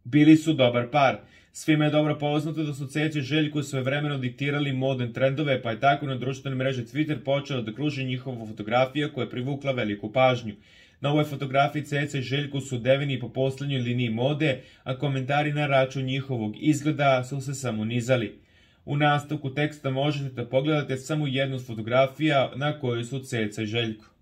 Bili su dobar par. Svima je dobro poznato da su Ceca i Željko svojevremeno diktirali modne trendove, pa je tako na društvenoj mreži Twitter počela da kruži njihova fotografija koja je privukla veliku pažnju. Na ovoj fotografiji Ceca i Željko su odeveni po poslednjoj liniji mode, a komentari na račun njihovog izgleda su se samo nizali. U nastavku teksta možete da pogledate samo jednu od fotografija na kojoj su Ceca i Željko.